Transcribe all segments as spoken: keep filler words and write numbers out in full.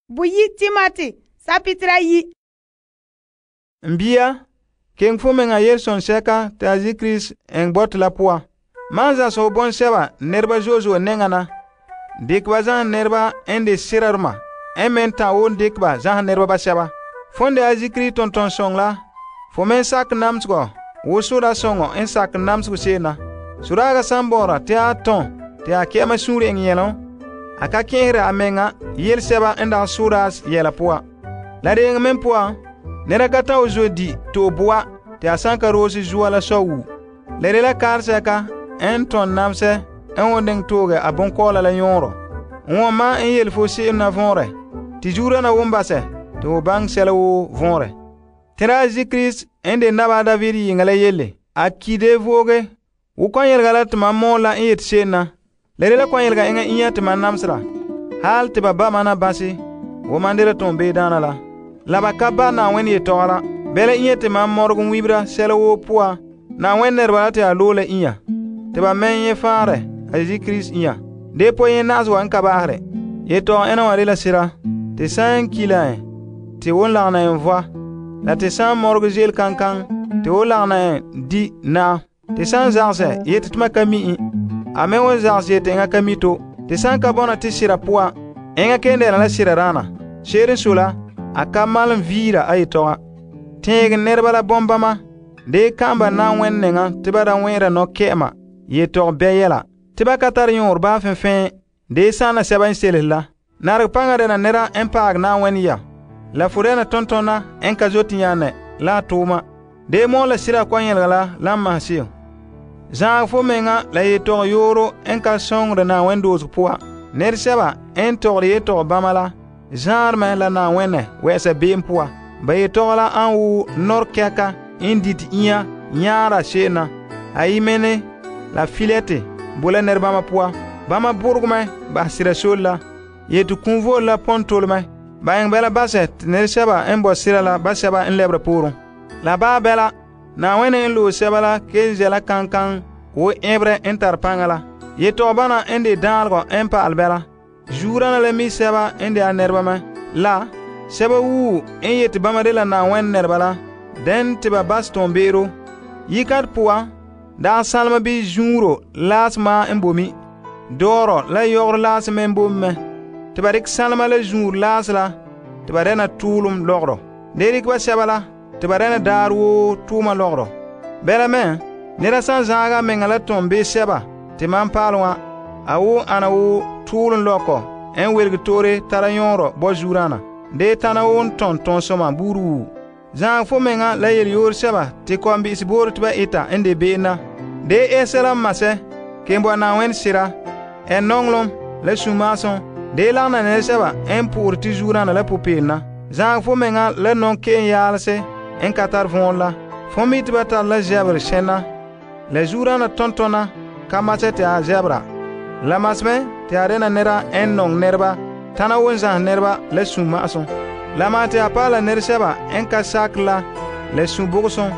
Buyi Timoti, sapitra yi. Mbia, ken fo menga Yelson seka ta Zikris en bot la poa. Man za so bon seba nerba zozo nengana. Dik ba zan nerba en de sirarma. En men ta won dik ba zan nerba ba seba. Fonde a Zikri ton ton song la. Fo men sak namsgo. Wo sura songo en sak namsgo sena. Suraga sambora te a ton. Te a kema suri en yelon. Aka kehre a menga yel seba en da suras yela poa. La de men poa. Nera kata o zo di to boa te a sanka rosi zuwa la so wu. Lere la karseka en ton namse en wondeng toge a bonkola la yonro. Won ma en yel fo se'em na vonre. Ti jura na wombase te o bang sela wo vonre. Tera Zikris en de naba David yingala yele. A kide voge. Wo kon yelga la te man mon la en yet sena. Lere la kon yelga enga inya te man namsra. Hal te ba ba mana basi. Wo mandela ton be dana la. La ba ka ba na wen ye tora. Bele inya te man morgun wibra sela wo poa. Na wen nerba te a lola inya. Te ba men ye fare a Zikris inya. De po ye nazwa en kabahre. Ye to ena wa la sira. Te san kila en. Te won la na en voa. La te san morgu zel kankan. Te won la na en di na. Te san zarse ye te tma kami. A men won zarse ye te nga kami to. Te san ka bona te sira poa. Enga kende la sira rana. Sherin sula. A ka malum vira ay toga. Teg nerba la bombama. De kamba na wen nenga tiba da wenra no kema. Ye tog beyela. Tiba katar yor ba fen fen. De sana seba inselis la. Narg panga de na nera empag na wen ya. La furena tontona enka zoti yane la tuma. De mo la sira kwanyel la la mahsil. Zang fo menga la ye tog yoro enka songre na wen doz poa. Ner seba en tog ye tog bamala. Zarme la na wenne wese beem poa. Ba ye tola an wu nor keka indit iya nyara shena. Ayi mene la filete bula nerbama poa. Bama burgume ba sira sola. Ye tu kunvo la pontolme. Ba yang bela baset ner seba en bo sira la ba seba en lebre purun. La ba bela na wenne en lo seba la kenzela kankan wo ebre en tarpangala. Ye to bana en de dalgo en pa albela. Jurana le mi seba ende a nerba ma. La, seba wu en yeti bama de la na wen nerba la. Den tiba bas ton bero. Yikat poa, da salma bi junro las ma en bomi. Doro la yor las men bomi me. Tiba rik salma la junr las la. Tiba rena tulum logro. Derik ba seba la. Tiba rena darwo tuma logro. Bela men, nera san zaga mengala ton be seba. Timan palwa. Awu ana wu tulun loko en welg tore tara yonro bo jurana de tana won ton ton soma buru zang fo menga la yel yor seba te ko ambi sibor tba eta ende beena de esela mase kembo na wen sira en nonglom la sumason de la na ne seba en pour ti jurana la popena zang fo menga la non ken yalse en katar von la fo mit bata la jabr shena la jurana tontona kamase te a jabra la masme te arena nera en nong nerba tana wonza nerba le sumason la mate apala nerseba en ka sakla le subuson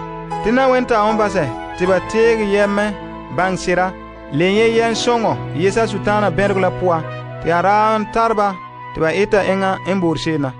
tina wenta on base tiba teg yemme bangsira lenye yen songo yesa sutana bergla poa te aran tarba tiba eta enga en burshena